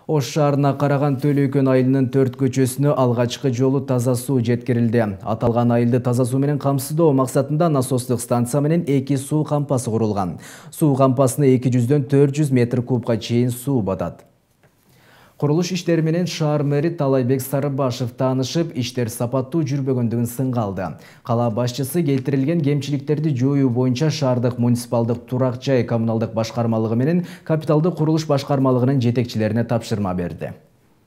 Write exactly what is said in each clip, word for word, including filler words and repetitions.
Ош шаарына караган Төлөйкөн айылынын төрт көчөсүнө алгачкы жолу таза суу жеткирилди. Аталган айылды таза суу менен камсыздоо максатында насостук станция менен эки суу кампасы курулган. Суу кампасына эки жүздөн төрт жүз метр кубка чейин суу батат. Курулуш иштери менен шаар мэри Талайбек Сарыбашев таанышып, иштер сапаттуу жүрбөгөндүгүн сынга алды. Кала башчысы келтирилген кемчиликтерди жоюу боюнча шаардык муниципалдык турак жай коммуналдык башкармалыгы менен капиталдык курулуш башкармалыгынын жетекчилерине тапшырма берди.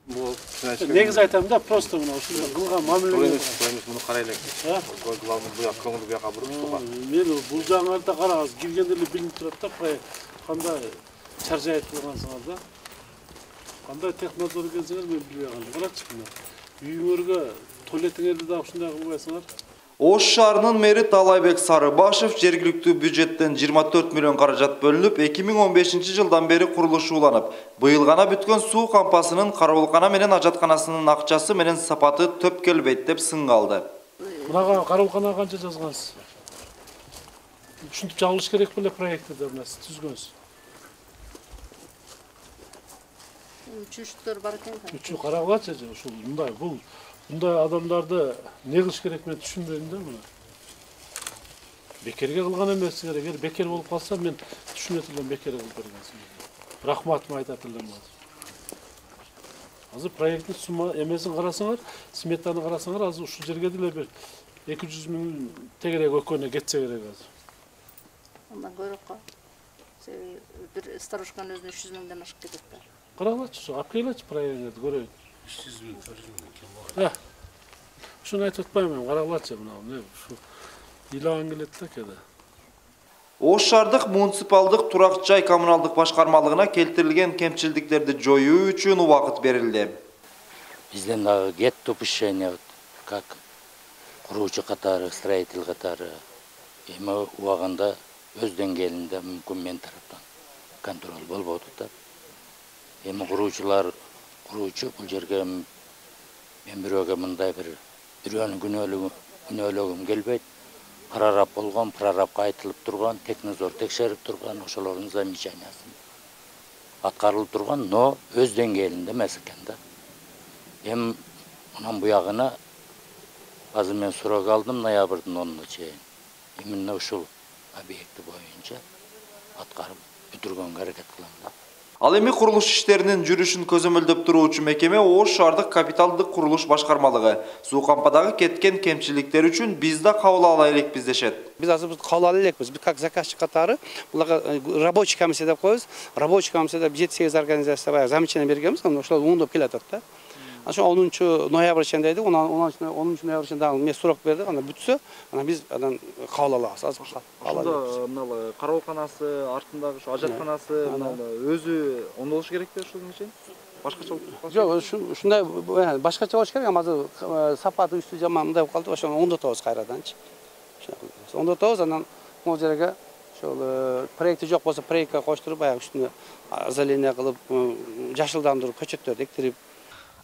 Негизи айтам да, просто мына ушундай кылган мамиле. Муну карайлы. Главный буяк, көңүл буякка буруп суга. Мен бул жаңырда карагыз, киргенде эле билинип турат да, кандай чаржай кылгансыңар да. Кандай технодор келсеңер мен билбей калдым. Карачы мына. Үйүңөргө туалетиңерди да ушундай кылбайсыңар. Ош шаарынын мэри Талайбек Сарыбашев жергиликтүү бюджеттен жыйырма төрт миллион каражат бөлүнүп, эки миң он бешинчи жылдан бери курулушу уланып, быйыл гана бүткөн суу кампасынын кароолкана менен ажатканасынын акчасы менен сапаты төп келбейт деп сынга алды. Мынага кароолкана канча жазгансыз? Ушинтип жабылыш керек беле проектте мына түзгөнсүз. Үчүчтөр бар экен. Үчү карагылачы, ушул мындай бул мындай адамдарды не кылыш керек мен түшүнбөйм да мына. Бекерге кылган эмес керек. Эгер бекер болуп калса мен түшүнөт элем бекер кылып бергенсин. Рахматымды айтат элем азыр. Азыр проекттин сумма эмесин карасаңар, сметаны карасаңар, азыр ушул жерге деле бир эки жүз миң тегерек өкөнө кетсе керек азыр. Андан көбүрөк. Бир старушканын өзүнө үч жүз миңден ашып кетет да. Карагылачы, алып келечи проектти көрөйүн. үч жүз миң, төрт жүз миң. Ушуну айтып атпаймын, карагылачы мына, эмне ушу ыйлаган келет да кеде. Ош шаардык муниципалдык турак жай коммуналдык башкармалыгына келтирилген кемчилдиктерди жоюу үчүн убакыт берилди. Бизден дагы get допущение как куруучу катары, строитель катары эми убагында өз деңгээлинде мүмкүн мен тараптан контроль болбоду да. Эми куруучулар куруучу бул жерге мен бирөөгө мындай бир бирөөнүн күнөөлөгүм келбейт. Прораб болгон, прорабка айтылып турган, технадзор текшерип турган, ошолордун замечаниясын аткарылып турган, но өз деңгээлинде эмес экен да. Эми анан буягына азыр мен суроо алдым ноябрдын онуна чейин. Именно ушул объекти боюнча аткарып бүтүргөнгө аракет кылам да. Ал эми курулуш иштеринин жүрүшүн көзөмөлдөп туруучу мекеме Ош шаардык капиталдык курулуш башкармалыгы суу кампадагы кеткен кемчиликтер үчүн биз да кабыл ала элекпиз дешет. Биз азыр кабыл ала элекпиз. Биз как заказчик катары буларга рабочий комиссия деп коебуз. Рабочий комиссияда жети сегиз организация баягы замечание бергенбиз, анан ошолор оңдоп келатат да. Ошо онунчу ноябрь чейин дедик, онунчу ноябрь чейин дагы мен сурок бердик, анан бүтсө, анан биз анан кабыл алабыз. Азыр ошондо мына кароолканасы, артындагы ушу ажатканасы өзү оңдолуш керек да ушунун үчүн? Башкача болуп калат? Жок, ушундай башкача болуш керек, азыр сапаты үстү жаман мындай болуп калды, ошону оңдотобуз кайраданчы. Оңдотобуз, анан могу жерге ошол проекти жок болсо проектке коштуруп, баягы үстүнө озеление кылып, жашылдандырып, көчөттөрдү эктирип.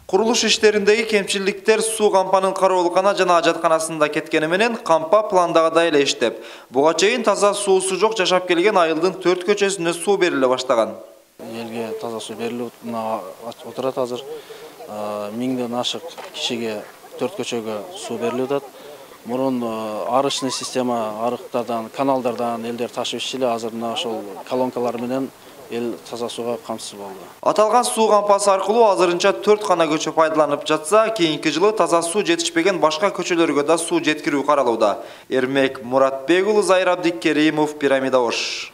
Курулуш иштериндеги кемчиликтер суу кампанын кароолкана жана ажатканасында кеткени менен кампа пландагыдай эле иштеп, буга чейин таза суусу жок жашап келген айылдын төрт көчөсүнө суу бериле баштаган. Элге таза суу берилип отурат азыр. Миңден ашык кишиге төрт көчөгө суу берилип атат. Мурун арычный система арыктардан, каналдардан элдер ташып иччиле, азыр мына ошол колонкалар менен эл таза сууга камсыз болду. Аталган суу кампасы аркылуу азырынча төрт гана көчө пайдаланып жатса, кийинки жылы таза суу жетишпеген башка көчөлөргө да суу жеткирүү каралууда. Эрмек Муратбек уулу, Зайыр Абдикеримов, Пирамида Ош.